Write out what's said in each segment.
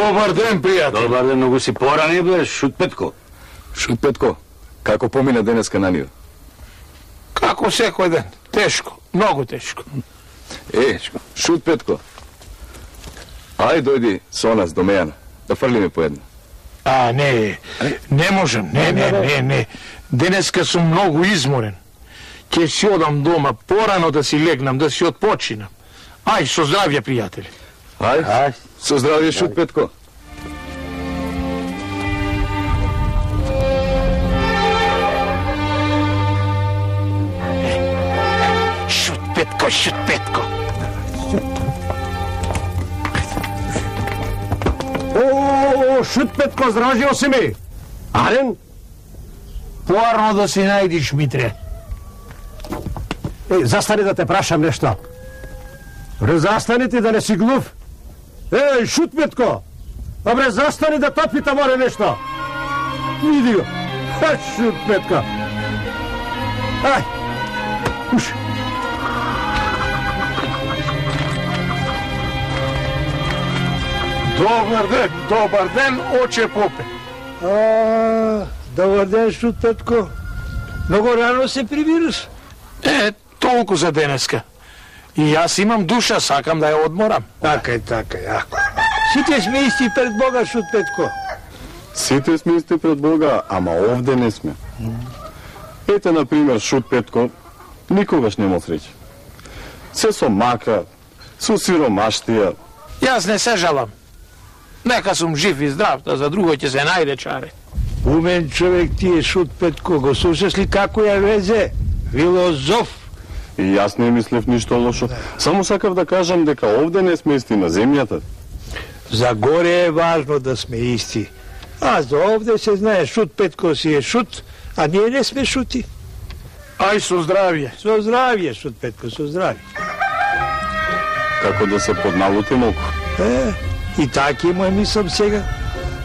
Добар ден, пријател. Добар ден, многу си порани, бе, Шут Петко. Шут Петко, како помина денеска на нива? Како секој ден. Тешко, многу тешко. Шут Петко, ај дојди со нас до Мејана, да фрлиме по една. Не можам, не. Денеска сум многу изморен. Ќе си одам дома порано да си легнам, да си отпочинам. Ај, со здравје, пријатели. Ај, со здравје, Шут Петко. Шут Петко. Шут Петко, здравјо си ми. Арен? Поарно да си најдиш, Митре. Застани да те прашам нешто. Застани ти да не си глув. Шут Петко. Добре, застани да те питам оре нешто. Види го. Шут Петко. Ај. Уш. Добар ден, оче попе. Добар ден, Шут Петко. Многу рано се прибираш. Толку за денеска. И јас имам душа, сакам да ја одморам. Така е. Сите сме исти пред Бога, Шут Петко. Сите сме исти пред Бога, ама овде не сме. Ете, например, Шут Петко, никогаш нема среќа. Се со мака, со сиромаштија. Јас не се жалам. Нека сум жив и здрав, да за друго ќе се најде чаре. Умен човек ти е, Шут Петко. Го слушаш ли како ја везе? Филозоф. И јас не мислев ништо лошо. Само сакав да кажам дека овде не сме исти на земјата. За горе е важно да сме исти. А за овде се знае, Шут Петко си е шут, а ние не сме шути. Ај, со здравје. Со здравје, Шут Петко, со здравје. Како да се подналути малку. И така му е мислам сега.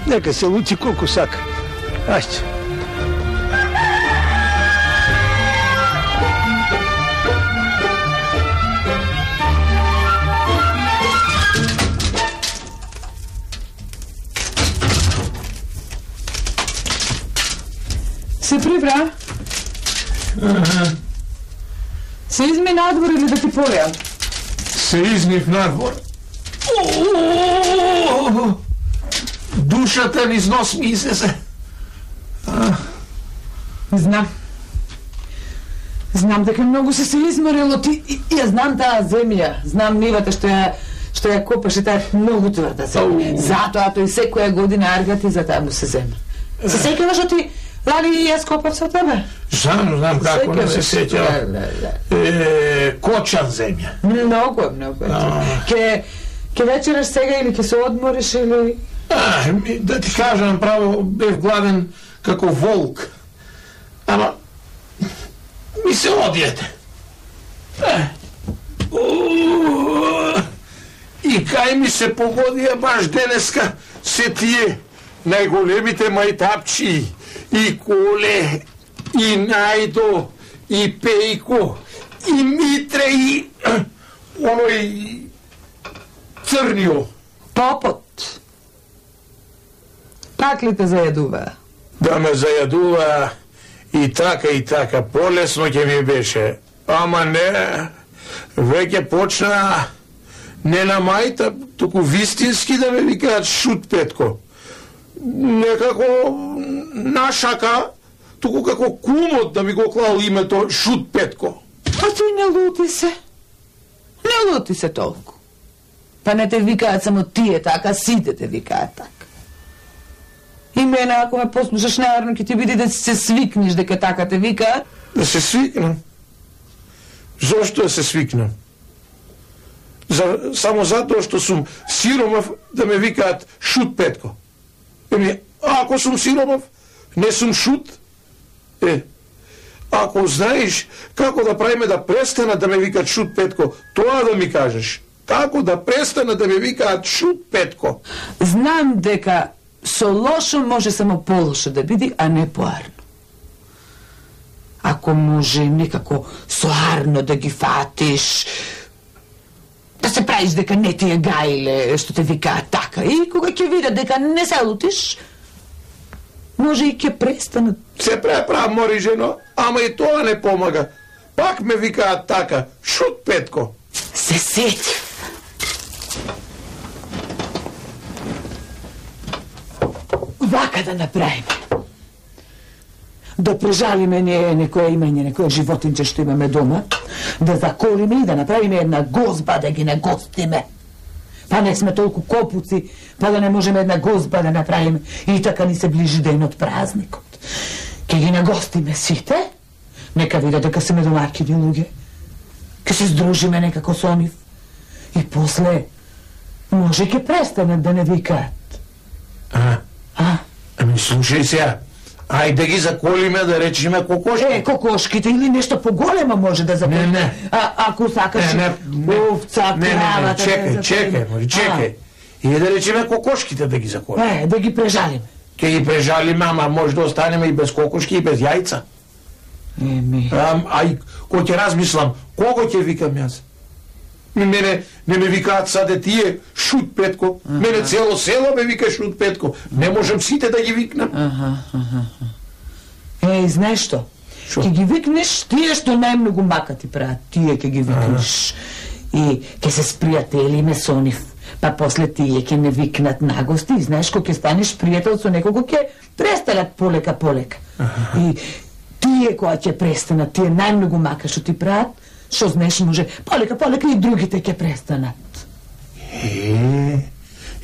Нека се лути колку сака. Ајде. Се прибра? Се изми надвор или да ти полеам? Се измив надвор. Душата низ нос ми излезе. Знам дека многу се изморило ти. Ја знам таа земја, знам нивата што ја копаше, таа многу тврда земја. Затоа тој секоја година аргати за таа му се земја. Се сеќаваш што ти лани и јас копав со тебе? Знам како не се сеќава. Кочан земја. Многу. Ке вечераш сега или ке се одмориш или... Да ти кажам, право бев гладен како волк. Ама ми се одјете. И кај ми се погодија баш денеска се тие најголемите мајтапчи, и Коле, и Најдо, и Пејко, и Митре, и оној Црнио. Попот. Пак ли те зајадува? Да ме зајадува и така, полесно ќе ми беше. Ама не, веќе почна не на мајта, туку вистински да ме викаат Шут Петко. Некако нашака, туку како кумот да ми го клал името Шут Петко. А ти не лути се толку. Па не те викаат само тие така, сите те викаат така. И мене, ако ме послушаш, наверно ќе ти биде да се свикнеш дека така те викаат. Да се свикнам? Зошто да се свикнам? Само затоа што сум сиромав да ме викаат Шут Петко. Ако сум сиромав, не сум шут. Ако знаеш како да правиме да престана да ме викаат Шут Петко, тоа да ми кажеш. Како да престана да ме викаат Шут Петко? Знам дека со лошо може само полошо да биде, а не поарно. Ако може некако со арно да ги фатиш, да се правиш дека не ти е гајле што те викаат така и кога ќе видат дека не се лутиш, може и ќе престанат. Се преправ, мори жено, ама и тоа не помага. Пак ме викаат така, Шут Петко. Се сетив. Вака да направиме. Да прежалиме некоја имање, некоја животинче што имаме дома, да заколиме и да направиме една гозба да ги нагостиме. Па не сме толку копуци, па да не можеме една гозба да направиме. И така ни се ближи ден од празникот. Ке ги нагостиме сите, нека видат дека сме домакини луѓе. Ке се здружиме некако со нив. И после, може ке престанат да не викаат. Ами слушај сега, ајде да ги заколиме, да речеме кокошки. Кокошките или нешто поголемо може да заколиме. Не. Ако сакаш овца, кравата... Чекај. И да речеме кокошките да ги заколиме. Да ги прежалиме. Ке ги прежалиме, ама може да останеме и без кокошки и без јајца. Ај, кој ќе размислам, кого ќе викам јас? Мене не ме викаат саде тие Шут Петко. Мене цело село ме вика Шут Петко. Не можам сите да ги викнам. Знаеш што? Ќе ги викнеш тие што најмногу мака ти прават. Тие ќе ги викнеш. И ќе се спријателиме со нив. Па после тие ќе не викнат нагости. И знаеш, кога ќе станеш пријател со некого, ќе престанат полека. И тие која ќе престанат, тие најмногу мака што ти прават, што знаеш, може полека и другите ќе престанат.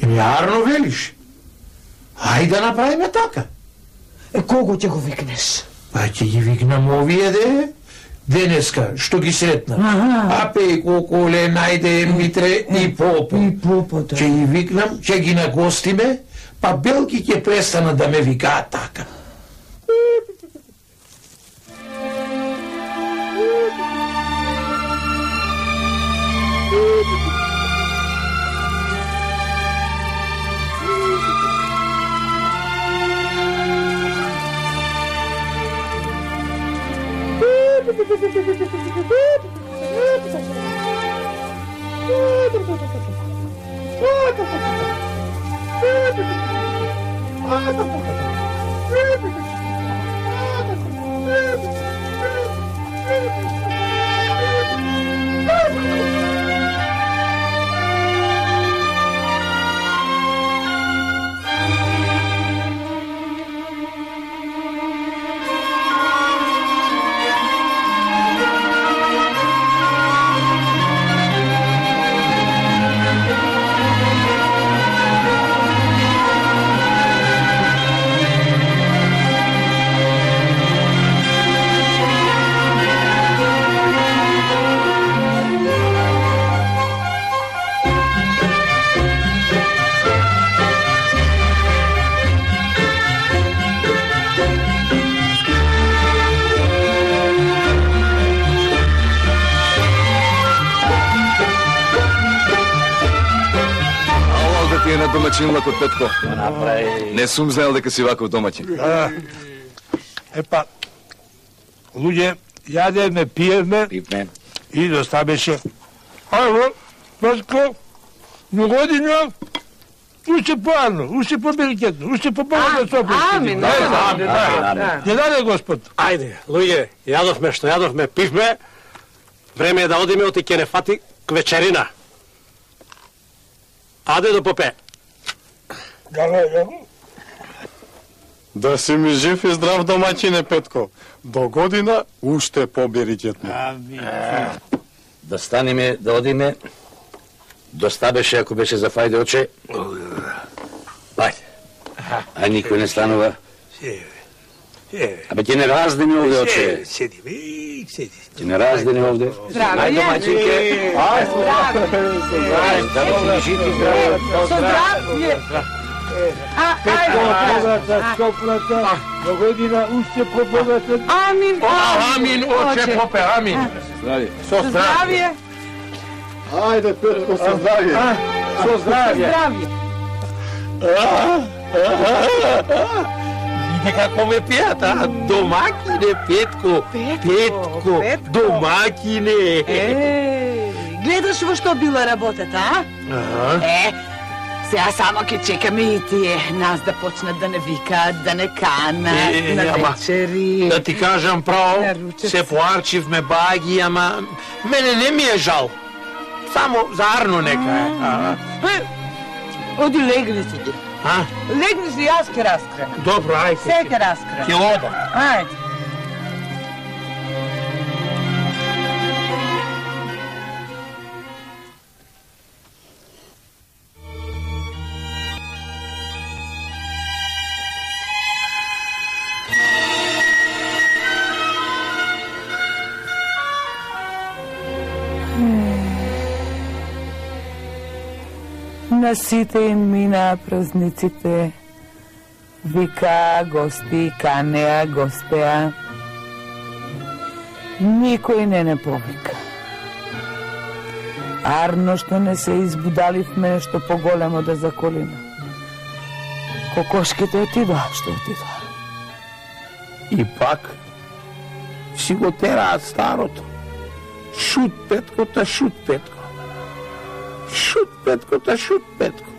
Јарно велиш. Ајде да направиме така. Кого ќе го викнеш? Па ќе ги викнам овие денеска, што ги сретнат. Апе и Коколе, Најде, Митре и Попо. Да. Ќе ги викнам, ќе ги нагостиме, па белки ќе престанат да ме викаат така. Домаќин лакот Петко. Не сум знаел дека си ваков домаќин. Епа, луѓе, јадеме, пиевме и доста беше. Ајво, Петко, на година, уште поарно, уште побеликетно, уште побогато сопрести. Амин. Не даде Господ. Ајде, луѓе, јадовме што јадовме, пивме. Време е да одиме, оти ќе не фати вечерина. Аде до Попе. Да си ми жив и здрав домаќине Петко. До година уште поберикетно. Да станеме, да одиме. Доста беше ако беше за фајде оче. Ајде. А никој не станува. Абе ќе не раздени овде оче. Седи. Ќе не раздени овде. Здраве, домаќинке. До година уште побогато. Амин, оче Попе, амин. Со здравје. Ајде Петко, со здравје. Со здравје. Види како ме пијат, домакине Петко. Петко, домакине. Гледаш во што била работата, а? Сега само ќе чекаме и тие нас да почнат да не викаат, да не канат на вечери. Да ти кажам право, се поарчивме баги, ама мене не ми е жал. Само за Арно нека е. Оди легни си ти. Легни си, јас ке раскрена. Добро, ајде. Се ке раскрена. Ќе одам. Ајде. На сите им минаа празниците. Вика гости, канеа, гостеа. Никој не повика. Арно што не се избудаливме нешто поголемо да заколиме. Кокошките отидоа, што отидоа. И пак си го тераат старото. Шут Петкота, шут Петко. Шут Петкота, шут Петко.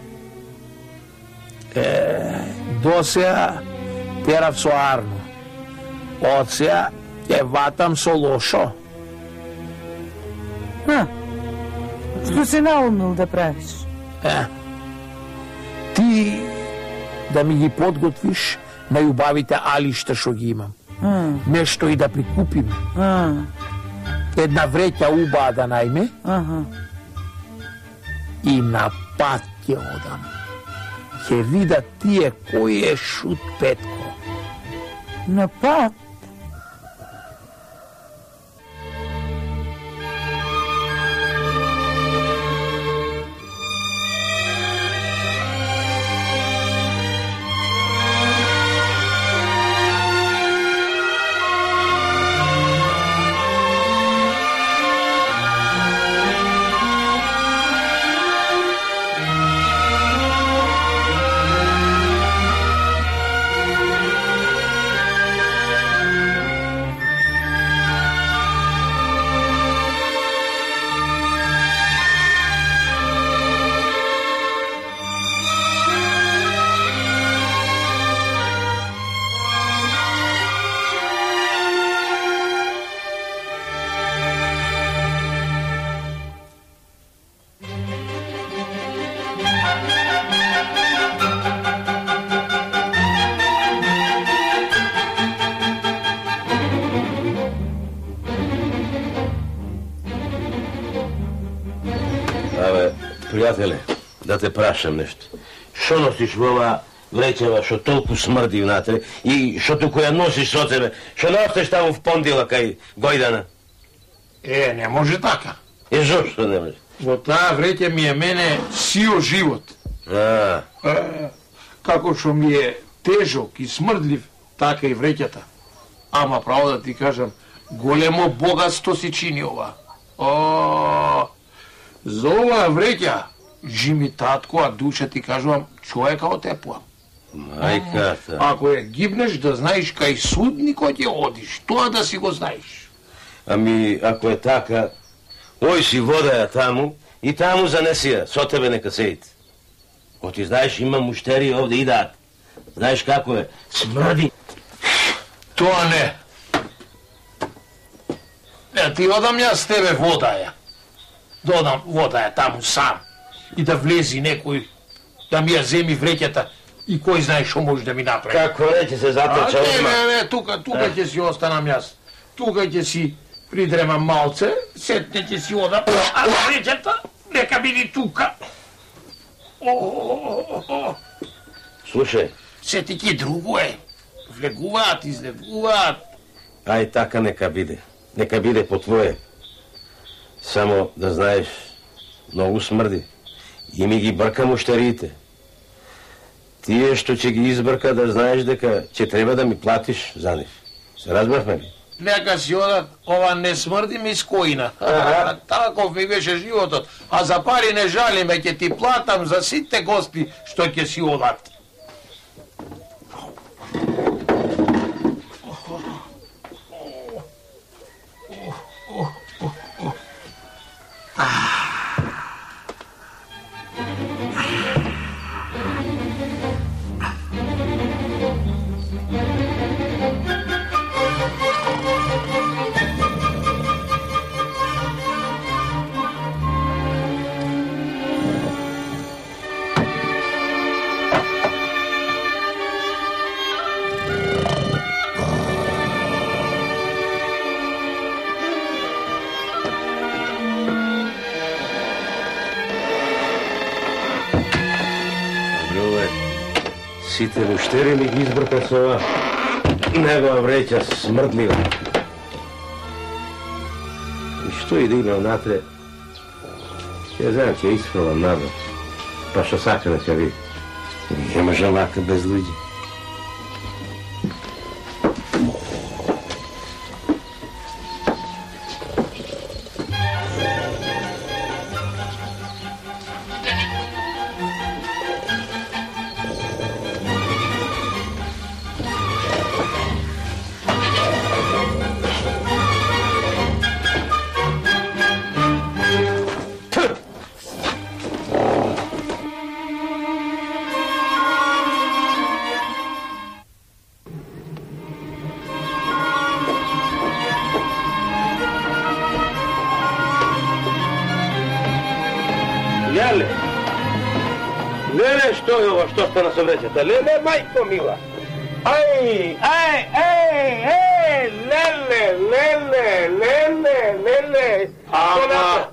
До сега терав со Арно. Од сега ќе ватам со лошо. Што се наумил да правиш? Ти да ми ги подготвиш најубавите алишта што ги имам. Нешто и да прикупиме. Една вреќа убава да најме. И на пат ќе одам. Ќе видат тие кој е Шут Петко. На пат? Пријателе, да те прашам нешто. Шо носиш во ова вреќева што толку смрди внатре и што туку ја носиш со тебе? Што не остеш таму в Пондила кај Гојдана? Не може така. Зошто не може? Во таа вреќа ми е мене сио живот. Како што ми е тежок и смрдлив, така и вреќата. Ама право да ти кажам, големо богатство си чини ова. За оваа вреќа, жими татко, а душа ти кажувам, човека отепувам. Мајката. Ако ја гибнеш, да знаеш кај судникот ќе одиш, тоа да си го знаеш. Ами, ако е така, ој си вода ја таму и таму занеси ја, со тебе нека седите. Ко ти знаеш, има муштери овде идаат. Знаеш како е, смрди. Тоа не. Ти одам јас тебе вода ја. Додам вода ја таму сам. И да влези некој, да ми ја земи вреќата и кој знае што може да ми направи. Како рече се заточа одма? Не, тука ќе си останам јас. Тука ќе си придремам малце, сетне ќе си одам, а вреќата нека биде тука. Слушај. Сети ки друго е. Влегуваат, излегуваат. Ај така нека биде. Нека биде по твое. Само да знаеш, многу смрди. И ми ги брка муштериите. Тие што ќе ги избрка да знаеш дека ќе треба да ми платиш за нив. Се разбравме ли? Нека си одат, ова не смрди ми скоина. Таков ми беше животот. А за пари не жалиме, ќе ти платам за сите гости што ќе си одат. сите муштери ми ги избрка со ова негова вреќа смрдлива. И што и да има внатре, ќе знам, ќе исфрлам надвор, па што сака да ќе види. Не може вака без луѓе. Леле, што е ова, што стана со вреќата? Леле, мајко мила! Леле, Ама,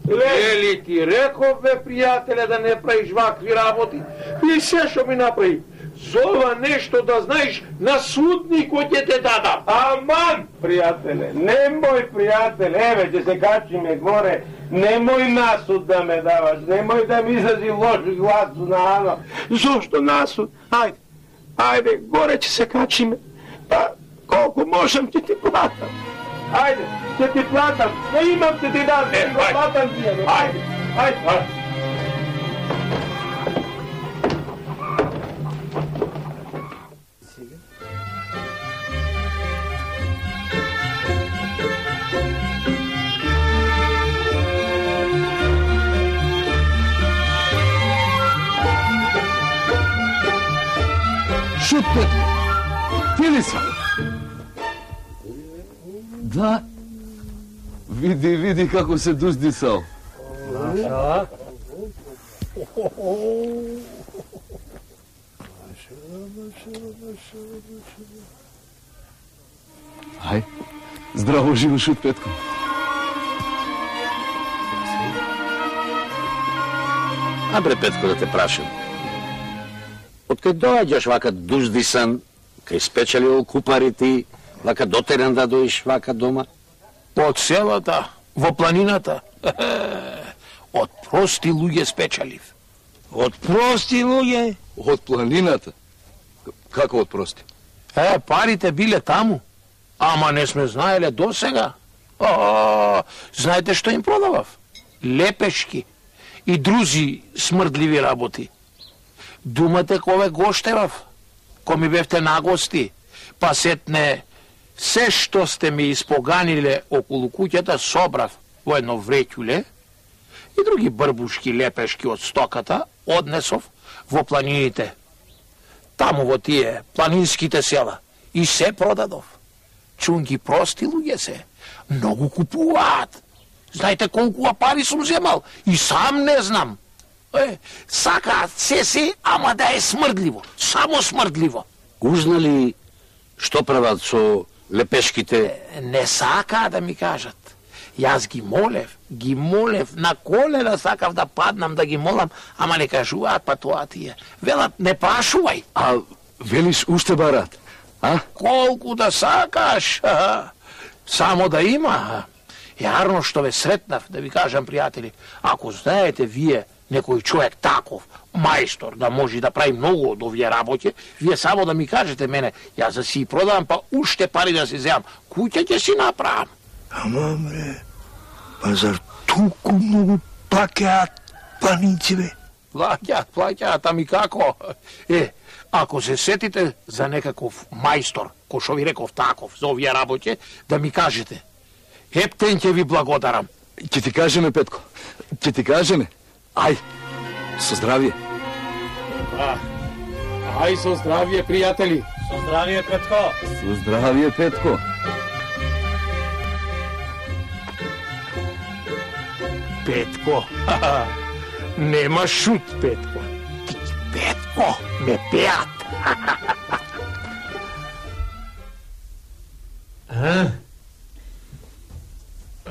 лели ти реков, бе, пријателе, да не правиш вакви работи. И се што ми направи. За ова нешто да знаеш, на судникот ќе те дадам. Аман, пријателе, немој, пријателе, еве, ќе се качиме горе, немој насуд да ме даваш, немој да ми изрази лош глас на Ано. Зошто насуд? Ајде, горе ќе се качиме. Па, колку можам ќе ти платам. Ајде, ќе ти платам, не имам ќе ти дам, ќе го платам ти. Ајде. Шут, Петко! Ти ли си? Да. Види како се дуздисал. Ај, здраво живо, Шут, Петко. Абре, Петко, да те прашам. Откај доаѓаш вака дуздисан, кај спечалил купарите, вака дотерен да доиш вака дома? Од селата, во планината. Од прости луѓе спечалив. Од прости луѓе? Од планината? Како од прости? Парите биле таму, ама не сме знаеле досега. Знаете што им продавав? Лепешки и друзи смрдливи работи. Думате кове гоштевав, ко ми бевте нагости, па сетне се што сте ми испоганиле околу куќата собрав во едно вреќуле и други брбушки лепешки од стоката однесов во планините. Таму во тие планинските села и се продадов. Чунки прости луѓе се, многу купуваат. Знаете колку пари сум земал и сам не знам. Сакаат се, ама да е смрдливо, само смрдливо. Узнали што прават со лепешките? Не сакаат да ми кажат. Јас ги молев, на колена сакав да паднам да ги молам, ама не кажуваат, па тоа тие. Велат, не прашувај. А велиш уште барат, а? Колку да сакаш, само да има. Јарно што ве сретнав, да ви кажам, пријатели, ако знаете вие некој човек таков, мајстор, да може да прави многу од овие работи, вие само да ми кажете мене, јас да си продавам, па уште пари да си земам, куќа ќе си направам. Ама, бре, па зар толку многу плаќаат планинци, бе? Плаќаат, ами како? Ако се сетите за некаков мајстор, кој што ви реков таков, за овие работи, да ми кажете. Ептен ќе ви благодарам. Ќе ти кажеме, Петко, ќе ти кажеме. Ај, со здравие. Ај, со здравие, пријатели. Со здравие, Петко. Со здравие, Петко. Петко, нема шут, Петко. Петко, ме пеат.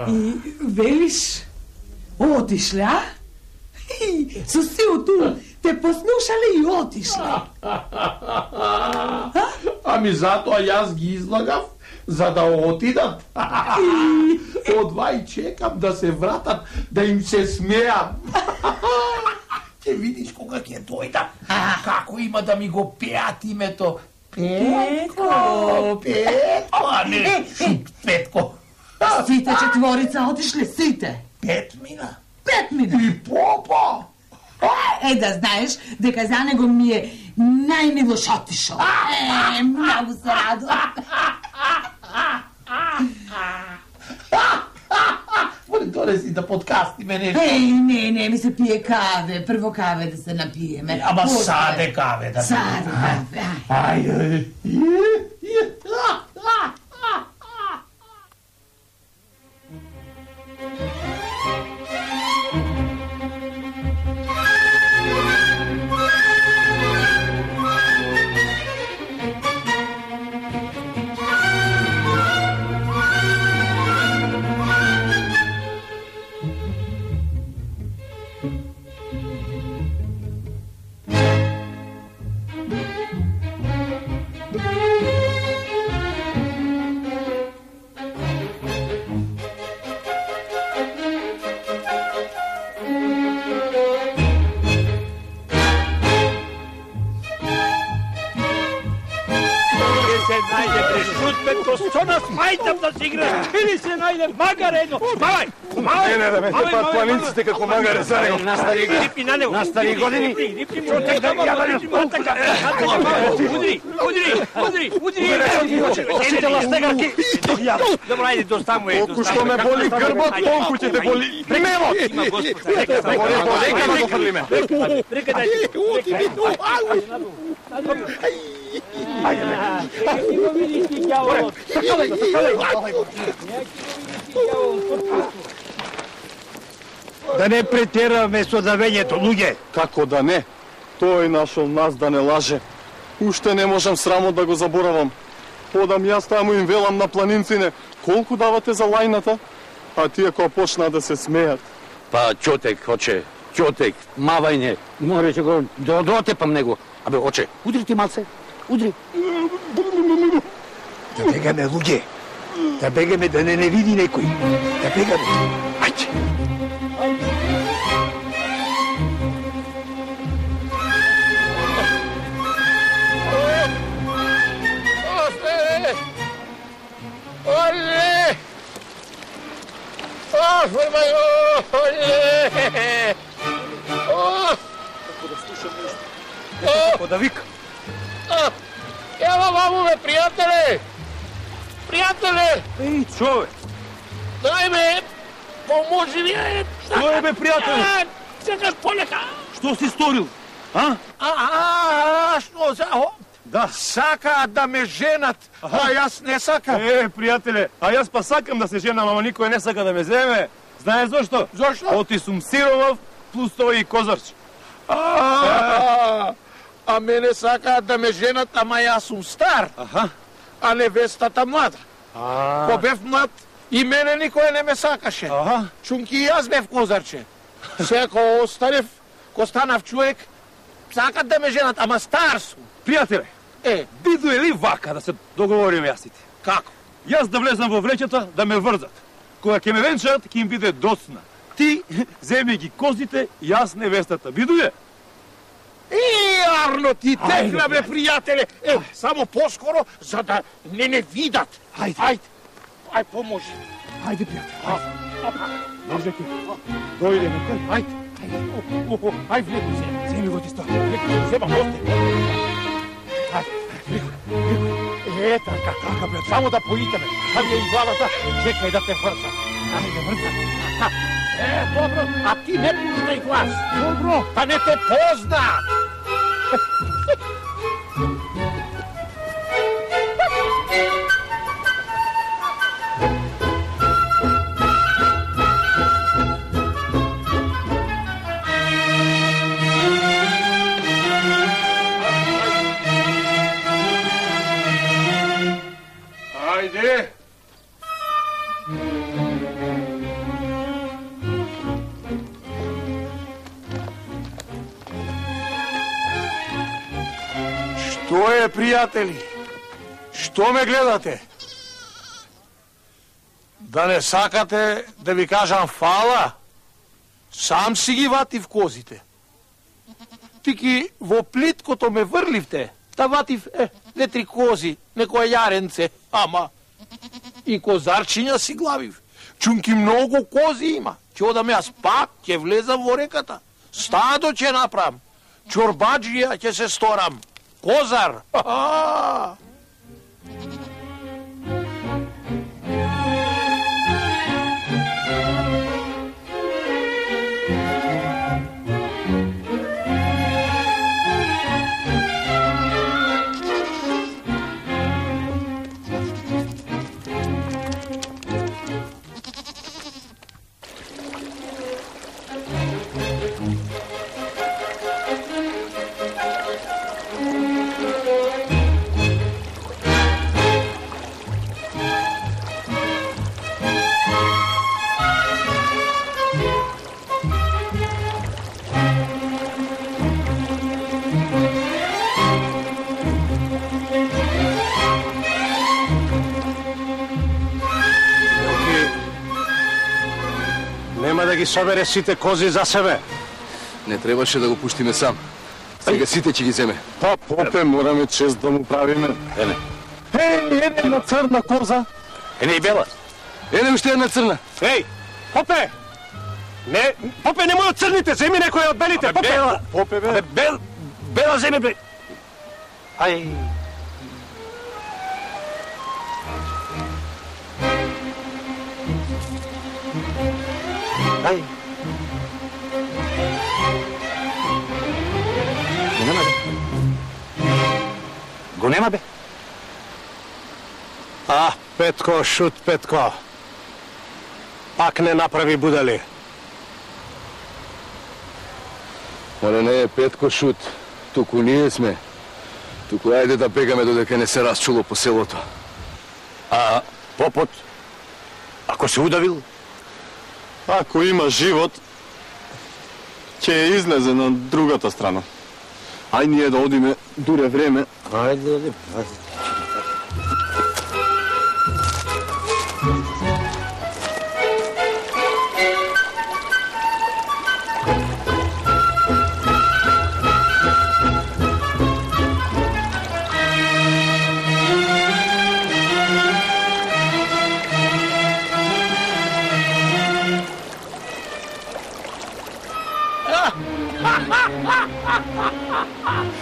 И велиш, отишле, а? Со силото те послушале и отишле. Ами затоа јас ги излагав за да отидат. Одва и чекам да се вратат, да им се смеам. Ќе видиш кога ќе дојдам, како има да ми го пеат името. Петко, Петко, а не Шут Петко. Сите четворица отишле, сите. Пет мина. И попа. Да знаеш дека за него ми е најмилош отишол. Многу се радувам. Донеси да подкастиме нешто. Не, ми се пие каве. Прво каве да се напиеме. Ама саде каве да се напиеме. Саде каве. Ајде. Што нас мајтам да си играш? Или се најде магар едно? Мавај! Не, да ме тепат планинците како магаре за него. Настави години. Удри! Сите ластегарки. Добро, ајде, доставмо е. Колку што ме боли грбот, толку ќе те боли мелот. Има Господ. Нека го фрлиме. Да не претераме со давењето, луѓе. Како да не? Тој нашол нас да не лаже. Уште не можам срамот да го заборавам. Подам јас таму им велам на планинцине, колку давате за лајната? А тие кога почнаа да се смеат. Па, ќотек, оче, ќотек, мавајне. Море ќе го дотепам него. Абе, оче, удри ти малце, удри. Да бегаме, луѓе. Да бегаме, да не види некој. Да бегаме. Ајде. Оле! Господи мој, оле! Како да слушам нешто. Како да вика. Ева ваму ме, пријателе! Пријателе! Еј, човек. Дај ме, поможи ми, Што е, бе, пријателе? Секаш полека. Што си сторил? А? Што за... Да. Сакаат да ме женат, а јас не сакам. Пријателе, а јас па сакам да се женам, ама никој не сака да ме земе. Знаеш зошто? Зошто? Оти сум сиромав, плюс тој и козарч. А мене сакаат да ме женат, ама јас сум стар. А невестата млада. Ко бев млад, и мене никој не ме сакаше. Чунки и јас бев козарче. Сега ко останев, ко станав човек, сакат да ме женат, ама стар сум. Пријателе, биду е ли вака да се договориме јас и ти? Како? Јас да влезам во вреќата да ме врзат. Кога ќе ме венчаат, ќе им биде доцна. Ти земи ги козите, јас невестата. Биду е? Арно ти текна, бе, пријателе. Само поскоро, за да не видат. Ајде, поможи. Ајде, пријателе. Држајте. Дојде ме тој. Ајде. Ајде, влеку се. Земи го ти сто. Зема госте. Така, брат, само да поитаме. Ставија и главата, чекај да те врза. Ајде, врза. Добро, а ти не пуштай глас. Добро. Па не те познаат. Ајде! пријатели, што ме гледате? Да не сакате да ви кажам фала? Сам си ги ватив козите. Тики во плиткото ме врливте, да ватив 2-3 кози, некоја јаренце, ама и козарчиња си главив. Чунки многу кози има. Ќе одам јас пак, ќе влезам во реката. Стадо ќе направам. Чорбаджија ќе се сторам. Козар! Ха-ха! Нема да ги собере сите кози за себе. Не требаше да го пуштиме сам. Сега сите ќе ги земе. Па, попе, мораме чест да му правиме. Ене. Ене една црна коза. Ене и бела. Ене уште една црна. Еј, попе! Не, попе, немој од црните, земи некоја од белите, попе! Бела, попе, бе. Бела земи, бе! Ај... Ај... Го нема, бе. Петко, шут, Петко. Пак не направи будали. Оле не е Петко шут, туку ние сме. Туку ајде да бегаме додека не се расчуло по селото. А попот, ако се удавил? Ако има живот, ќе излезе на другата страна. Ај ние да одиме дуре време. Ајде да одиме. Ha ha ha!